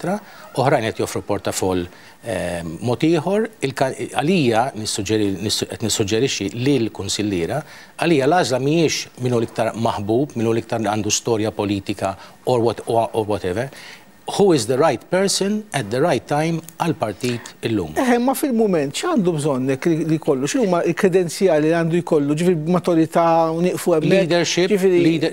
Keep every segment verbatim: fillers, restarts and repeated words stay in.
eċċetera. Oħrajn qed joffru portafoll mod ieħor. Għalija qed nissuġġerixxi lil kunsilliera, għalija l-għażla mhijiex minnu l-iktar maħbub, minnu l-iktar għandu storja politika or what or whatever. Who is the right person at the right time għal-partit illum? Eħe, ma fil-moment, x'għandu bżonnek li jkollu? X'huma l-kredenzjali li għandu jkollu? Ġifieri maturità u nieqfu hemmhekk? Leadership,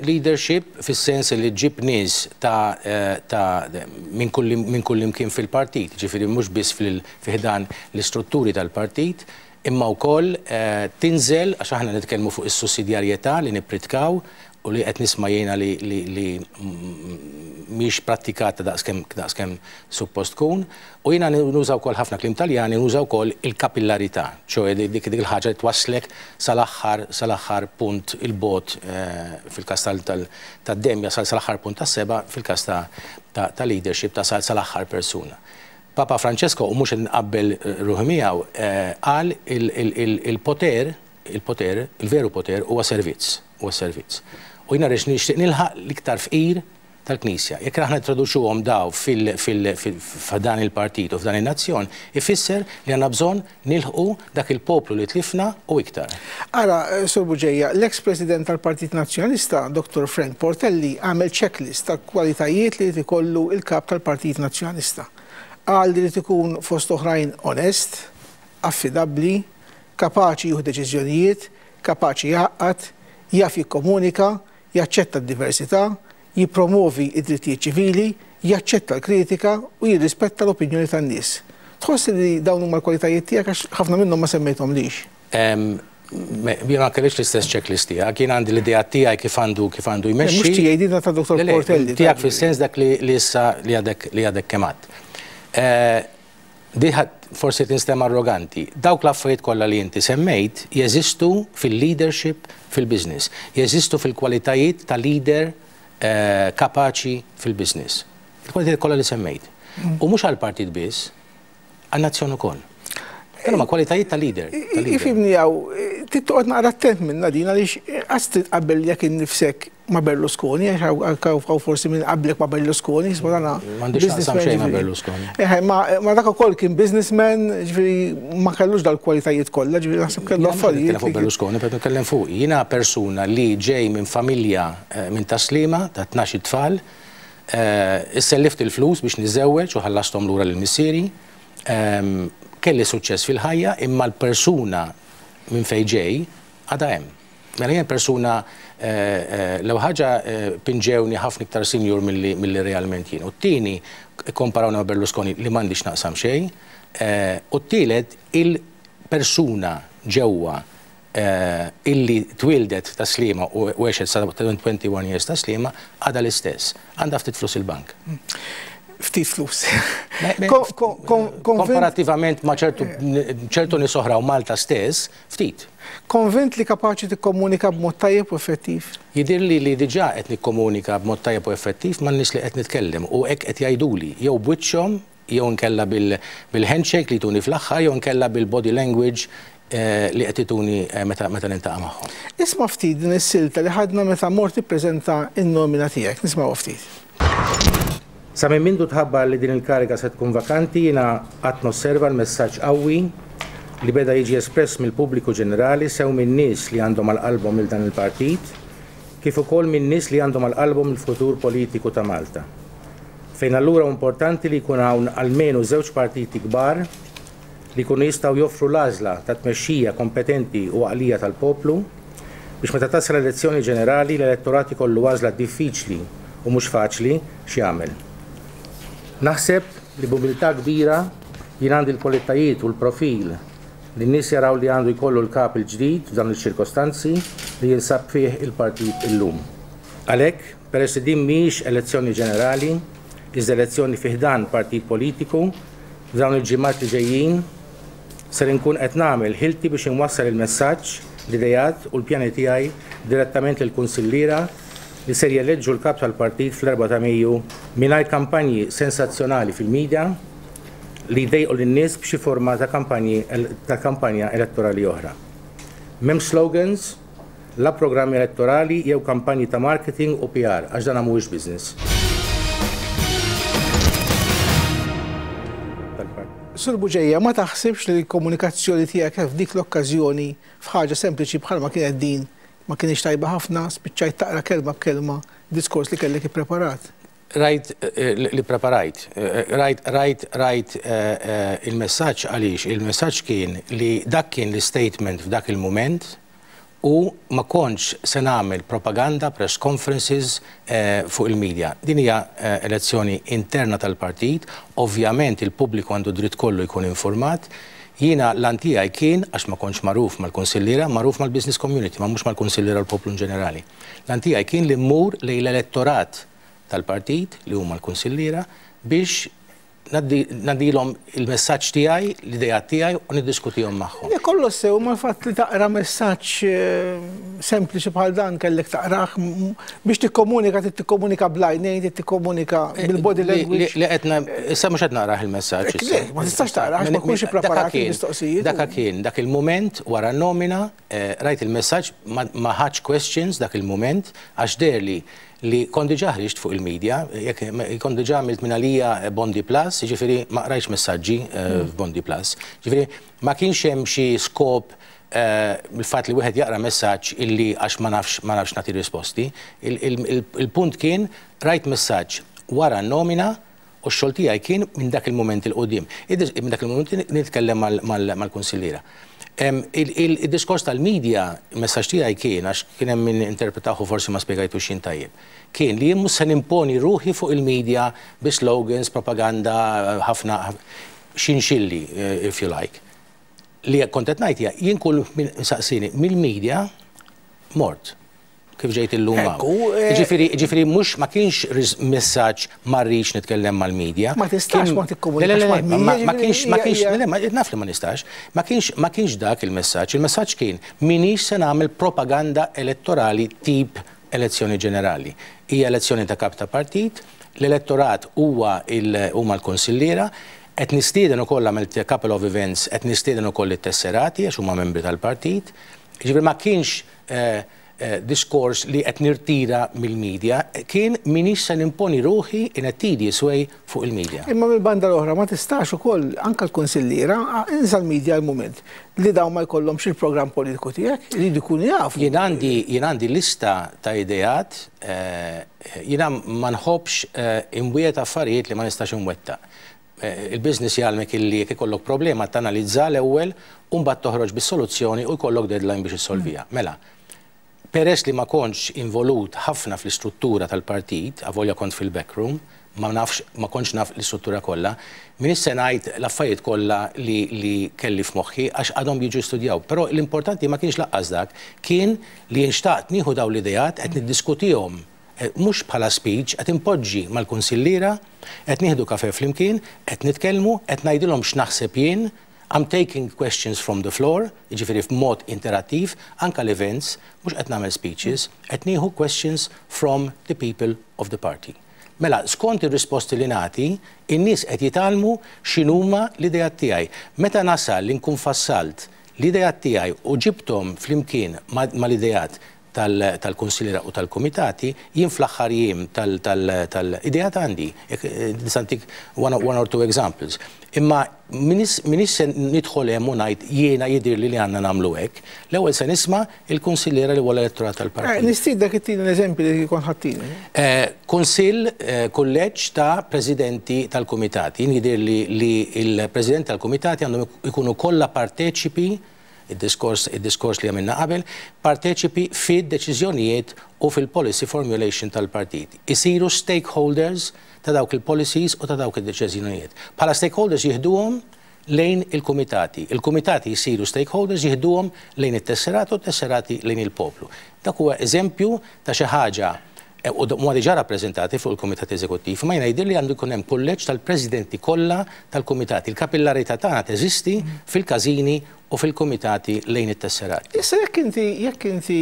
leadership fis-sens li ġib nies ta' minn kull imkien fil-partit, ġifieri mhux biss fil-ħdan l-istrutturi tal-partit, imma wkoll tinżel, għax aħna nitkellmu fuq is-sussidjarjetà li nippritkaw u li qed nisma' jiena li li mhix prattikata daqskemm daqskemm suppost tkun, u jiena nuża wkoll ħafna kliem Taljani, nuża wkoll il-kapillarità, ċoe dik dik il-ħaġa li twasslek sal-aħħar sal-aħħar punt il-bot fil-każ tad-demja, sal-aħħar punt tas-seba' fil-każ ta' leadership ta' sal-aħħar persuna. Papa Francesco, u mhux nqabbel ruħi miegħu, qal il-poter, il-poter, il-veru poter huwa servizz, huwa servizz. U jiena rix nixtieq nilħaq l-iktar fqir tal-Knisja. Jekk aħna introduċuhom daw f'dan il-partit u f'dan il-nazzjon, ifisser li għandna bżonn nilħqu dak il-poplu li tlifna u iktar. Ara, Sur Bugeja, l-ex-president tal-Partit Nazzjonalista, Doktor Frank Portelli, għamel checklist ta' kwalitajiet li jkollu il-kap tal-Partit Nazzjonalista. Qal li ikun fost oħrajn onest, affidabbli, kapaċi jieħu deċiżjonijiet, kapaċi jgħaqqad, jaf jikkomunika, jaċċetta d-diversità, jippromovi id-drittijiet ċivili, jaċċetta l-kritika u jirrispetta l-opinjoni tan-nies. Tħoss li dawn huma l-kwalitajiet tiegħek, għax ħafna minnhom ma semmejthomlix? Jien ma kellix l-istess checklist tiegħek, jien għandi l-idea tiegħi kif għandu kif għandu jmexxi. Mhux tiegħi, din ta' Doktor Portelli. Tiegħek fis-sens dak li issa li għadek li għadek kemm għadt. Diħat forsi tinstema' arroganti. Dawk l-affarijiet kollha li inti semmejt jeżistu fil-leadership fil-business, jeżistu fil-kwalitajiet ta' leader kapaċi fil-business. Il-kwalitajiet kollha li semmejt. U mhux għall-partit biss, għan-nazzjon ukoll. Dan huma kwalitajiet ta' leader. Ifhimni hawn, trid toqgħod naqra attent minna din, għaliex qas trid tqabbel jekk innifsek ma' Berlusconi, għax hawn forsi minn qablek ma' Berlusconi, jisma' dana M'għandix naqsam xejn ma' Berlusconi. Eħe, ma dak ukoll kien businessman, ġifieri ma kellux dal-kwalitajiet kollha, ġifieri naħseb kellu affarijiet. Nitkellem fuq Berlusconi, però nitkellem fuq. Jiena persuna li ġej minn familja minn Taslima ta' tnax tfal, issellift il-flus biex niżewweġ u ħallasthom lura lil missieri. Kelli suċċess fil-ħajja, imma l-persuna minn fejn ġej għadha hemm. Mela jien persuna, l-ewwel ħaġa pinġewni ħafna iktar senior milli realment jien. U t-tieni komparawna ma' Berlusconi li m'għandix naqsam xejn. U t-tielet il-persuna ġewwa illi twildet ta' Sliema u għexet sa twenty-one years ta' Sliema għadha l-istess. Għandha ftit flus il-bank. Ftit flus. Komparativament ma' ċertu nies oħra u Malta stess, ftit. Konvint li kapaċi tikkomunika b'mod tajjeb u effettiv? Jidhirli li diġà qed nikkomunika b'mod tajjeb u effettiv man nies li qed nitkellem u hekk qed jgħiduli jew b'wiċċhom, jew nkella bil-handshake li tuni fl-aħħar, jew nkella bil-body language li qed ituni meta niltaqa' magħhom. Isma' ftit din is-silta li ħadna meta mort tippreżenta n-nomina tiegħek, nismgħu ftit. Sa minn mindu tħabbar li din il-kariga se tkun vakanti, jiena qatt nosserva l-messaġġ qawwi li beda jiġi espress mill-pubbliku ġenerali sew minn nies li għandhom għal qalbhom il dan il-partit, kif ukoll minn nies li għandhom għal qalbhom il-futur politiku ta' Malta. Fejn allura importanti li jkun hawn almenu żewġ partiti kbar li jkunu jistgħu joffru l-għażla ta' tmexxija kompetenti u għaqlija tal-poplu biex meta tasal elezzjoni ġenerali l-elettorat ikollu għażla diffiċli u mhux faċli x'jagħmel. Naħseb li b'umiltà kbira jien għandi l-kwalitajiet u l-profil li n-nies jaraw li għandu jkollu l-kap il-ġdid f'dawn iċ-ċirkostanzi li jinsab fih il-partit illum. Għalhekk, peress li din mhijiex elezzjoni ġenerali, iżda elezzjoni fi ħdan partit politiku, f'dawn il-ġimgħat li ġejjin ser inkun qed nagħmel ħilti biex inwassal il-messaġġ, l-idejat u l-pjani tiegħi direttament lill-kunsilliera li ser jeleġġu l-kap tal-partit fl-erbgħa ta' Mejju mingħajr kampanji sensazzjonali fil-medja li jdejqu lin-nies b'xi forma ta' kampanji ta' kampanja elettorali oħra. M'hemm slogans, la programmi elettorali jew kampanji ta' marketing u P R, għax dan mhuwiex business. Sur Bugeja, ma taħsibx li l-komunikazzjoni tiegħek f'dik l-okkażjoni f'ħaġa sempliċi bħalma kienet din ma kienx tajba ħafna, spiċċajt taqra kelma b'kelma diskors li kellek ippreparat? Rajt li preparajt, rajt, rajt, rajt il-messaġġ għaliex, il-messaġġ kien li dak kien l-statement f'dak il-moment u ma kontx se nagħmel propaganda, press conferences fuq il-media. Din hija elezzjoni interna tal-partit, ovvjament il-pubbliku għandu dritt kollu jkun informat. Jiena l-għan tiegħi kien, għax ma kontx magħruf mal-konsilliera, magħruf mal-business community, ma mhux mal-konsilliera l-poplu in ġenerali. L-għan tiegħi kien li mmur lejn l-elettorat tal-partit, li huma l-konsilliera, biex ngħaddilhom il-messaġġ tiegħi, l-idea tiegħi u niddiskutihom magħhom. Kollu sew ma fatt li taqra messaġġ sempliċi bħal dan kellek taqrah biex tikkomunika, tikkomunika bl-għajnejn, tikkomunika bil-body language. Li qed issa mhux qed naqrah il-messaġġ. Le, ma tistax taqrah ma tkunx ippreparat il-mistoqsijiet. Dak kien dak il-mument wara nomina, rajt il-messaġġ, ma ħadx questions dak il-mument għax deherli li kont diġà ħriġt fuq il-medja, kont diġà għamilt minn għalija Bondi Plus, ġifieri ma qrajtx messaġġi f'Bondi Plus. Ġifieri ma kienx hemm xi skop il-fatt li wieħed jaqra messaġġ illi għax ma nafx ma nafx nagħti risposti. Il-punt kien rajt messaġġ wara nomina u x-xogħol tiegħi kien minn dak il-mument 'il quddiem. Minn dak il-mument nitkellem mal-konsilliera. Il-diskors tal-medja, il-messaġġ tiegħi kien, għax kien hemm min interpretahu forsi ma spjegajtux jien tajjeb, kien li jien mhux se nimponi ruħi fuq il-medja bi slogans, propaganda, ħafna xinxilli, if you like. Li kont qed ngħid hija, jien kull min saqsini mill-medja mort kif ġejt illum hawn. Ġifieri, ġifieri mhux ma kienx messaġġ ma rridx nitkellem mal-medja. Ma tistax ma tikkomunikax mal-medja. Ma kienx, ma kienx, le, naf li ma nistax. Ma kienx, ma kienx dak il-messaġġ. Il-messaġġ kien minix se nagħmel propaganda elettorali tip elezzjoni ġenerali. Hija elezzjoni ta' kap ta' partit, l-elettorat huwa huma l-konsilliera, qed nistieden ukoll għamilt couple of events, qed nistieden ukoll it-tesserati għax huma membri tal-partit. Ġifieri ma kienx diskors li qed nirtira mill-medja, kien minix se nimponi ruħi in a tedious way fuq il-medja. Imma mill-banda l-oħra ma tistax ukoll anke l-konsilliera, insa l-medja l-mument, li dawn ma jkollhomx il-programm politiku tiegħek, iridu jkunu jafu. Jien għandi, jien għandi lista ta' ideat, jiena ma nħobbx imwiet affarijiet li ma nistax imwettaq. Il-business jgħallmek illi jekk ikollok problema tanalizza l-ewwel u mbagħad toħroġ bis-soluzzjoni u jkollok deadline biex issolvija. Mela, peress li ma kontx involut ħafna fl-istruttura tal-partit, avolja kont fil-backroom, ma nafx, ma kontx naf l-istruttura kollha, min se ngħid l-affarijiet kollha li, li kelli f'moħħi għax għadhom jiġu studjaw. Però l-importanti ma kienx laqqas dak, kien li nxtaqt nieħu dawn l-ideat qed niddiskutihom mhux bħala speech, qed impoġġi mal-kunsilliera, qed nieħdu kafe flimkien, qed nitkellmu, qed ngħidilhom x'naħseb jien. I'm taking questions from the floor, jiġifieri f'mod interattiv, anka l-events, mhux qed nagħmel speeches, qed nieħu questions from the people of the party. Mela, skont ir-risposti li nagħti, in-nies qed jitgħallmu x'inhuma l-ideat tiegħi. Meta nasal li nkun fassalt l-ideat tiegħi u ġibthom flimkien mal-ideat tal-konsilliera u tal-komitati, jien fl-aħħar jiem tal-ideat għandi, nista' ntik one or two examples. Imma minix se nidħol hemm u ngħid jiena jidhirli li għandna nagħmlu hekk, l-ewwel se nisma' il-kunsilliera li huwa l-elettorat tal-partit. Nistiedek ittini l-eżempji li kont ħattini. Kunsill, kulleġġ ta' presidenti tal-kumitati. Jien jidhirli li l-president tal-kumitati għandhom ikunu kollha parteċipi, il-diskors, il-diskors li għamilna qabel, parteċipi fid-deċiżjonijiet u fil-policy formulation tal-partit. Isiru stakeholders ta' dawk il-policies u ta' dawk il-deċiżjonijiet. Bħala stakeholders jieħduhom lejn il-kumitati. Il-kumitati jisiru stakeholders jieħduhom lejn it-tesserati u t-tesserati lejn il-poplu. Dak huwa eżempju ta' xi ħaġa u huma diġà rappreżentati fuq il-Kumitat Eżekuttiv, ma jiena jidhirli għandu jkun hemm kulleġġ tal-presidenti kollha tal-kumitati. Il-kapillarità tagħna teżisti fil-każini u fil-kumitati lejn it-tesserati. Issa jekk inti, jekk inti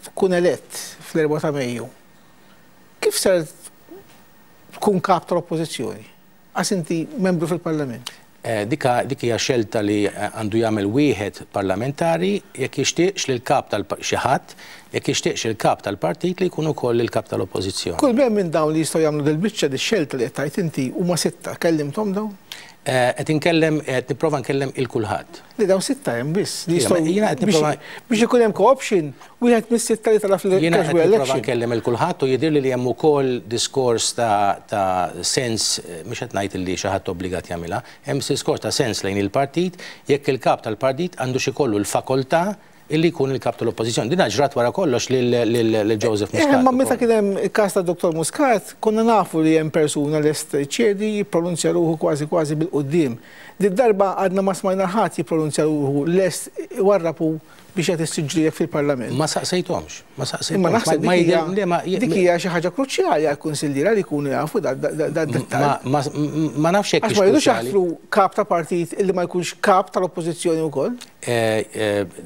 tkun elett fl-erba ta' Mejju, kif ser tkun kap tal-Oppożizzjoni? Għax inti membru fil-Parlament. Dika, dik hija xelta li għandu jagħmel wieħed parlamentari jekk jixtieqx lil kap tal xi ħadd, jekk jixtieqx il-kap tal-partit li jkun ukoll il-kap tal-Oppożizzjoni. Kull bejn minn dawn li jistgħu jagħmlu dil-biċċa di xelta li qed tgħid inti huma sitta, kellimthom dawn? Qed inkellem, qed nipprova nkellem il kulħadd. Li dawn sitta hemm biss. Biex ikun hemm co-option, wieħed mis-sitta li tala fil-Jiena qed nipprova nkellem il kulħadd u jidhirli li hemm ukoll diskors ta' sens, mhux qed ngħid li xi ħadd obbligat jagħmilha, hemm diskors ta' sens lejn il-partit jekk il-kap tal-partit għandu xi kollu l-fakoltà illi jkun il-kap tal-oppożizzjoni. Din ġrat wara kollox lil Joseph Muscat. Ma meta kien hemm il-każ ta' Dottor Muscat, konna nafu li hemm persuna lest ċedi jippronunzja ruħu kważi kważi bil-quddiem. Din darba għadna ma smajna ħadd jippronunzja ruħu lest warrapu biex qed issiġġielek fil-Parlament. Ma saqsejthomx, ma saqsejthomx. Imma naħseb dik hija xi ħaġa kruċjali għall-kunsilliera li jkunu jafu dad-dettall. Ma nafx hekk. Għax ma jridux jaħtru kap ta' partit illi ma jkunx kap tal-oppożizzjoni wkoll.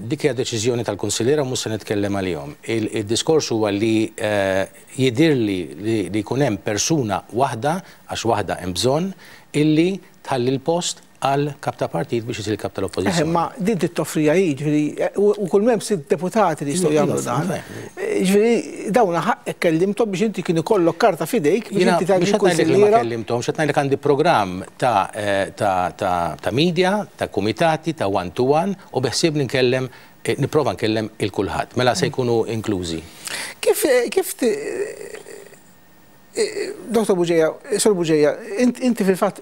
Dik hija deċiżjoni tal-kunsilliera u mhux se nitkellem għalihom. Il-diskors huwa li jidhirli li jkun hemm persuna waħda, għax waħda hemm bżonn, illi tħalli l-post għal kap ta' partit biex isir kap tal-oppożizzjoni. Ma din toffrija hi, ġifieri, u kull m'hemm sitt deputati li jistgħu jagħmlu dan. Ġifieri dawn ħaqqek kellimthom biex inti kien ikollok karta f'idejk biex inti tgħid kunsilliera. Ma kellimthom, x'qed ngħidlek għandi programm ta' media, ta' kumitati, ta' one to one u beħsieb nkellem, nipprova nkellem il kulħadd. Mela se jkunu inklużi. Kif kif Dottor Bugeja, Sur Bugeja, inti fil-fatt